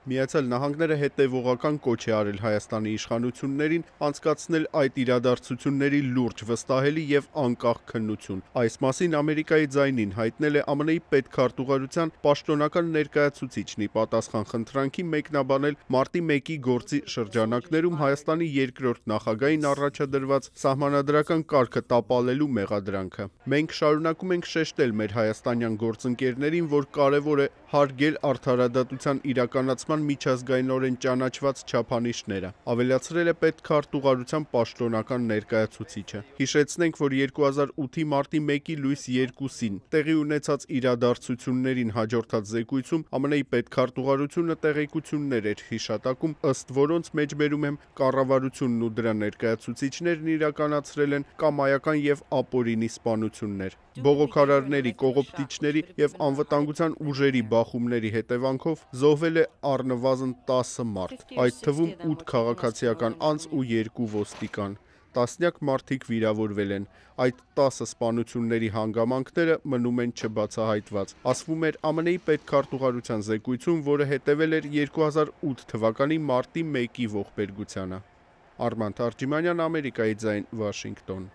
Միացյալ Նահանգները հետևողական կոչ է արել Հայաստանի իշխանություններին անցկացնել այդ իրադարձությունների լուրջ, վստահելի և անկախ քննություն։ Այս մասին Ամերիկայի ձայնին հայտնել է ԱՄՆ-ի պետքարտուղարության պաշտոնական ներկայացուցիչն ի պատասխան խնդրանքի մեկնաբանել մարտի 1-ի գործի շրջանակներում Հայաստանի երկրորդ նախագահին առաջադրված սահմանադրական կարգը տապալելու մեղադրանքը։ Մենք շարունակում ենք շեշտել մեր հայաստանյան գործընկերներին, որ կարևոր է հարգել արդարադատության իրականացման միջազգայինորեն ճանաչված չափանիշները, ավելացրել է պետքարտուղարության պաշտոնական ներկայացուցիչը։ Հիշեցնենք, որ 2008-ի մարտի 1-ի լույս 2-ին տեղի ունեցած իրադարձություններին հաջորդած զեկույցում ԱՄՆ-ի պետքարտուղարությունը տեղեկություններ էր հիշատակում, ըստ որոնց մեջբերում եմ կառավարությունն ու դրա ներկայացուցիչներն իրականացրել են կամայական և ապօրինի սպանություններ։ Բողոքարարների, կողոպտիչների և անվտանգության ուժերի բախումների հետևանքով զոհվել է առնվազն 10 մարդ, այդ թվում 8 քաղաքացիական անձ ու 2 ոստիկան։ Տասնյակ մարդիկ վիրավորվել են։ Այդ 10 սպանությունների հանգամանքները մնում են չբացահայտված, ասվում էր ԱՄՆ-ի պետքարտուղարության զեկույցում, որը հետևել էր 2008 թվականի մարտի 1-ի ողբերգությանը։ Արման Թարջիմանյան, Ամերիկայի ձայն, Վաշինգտոն։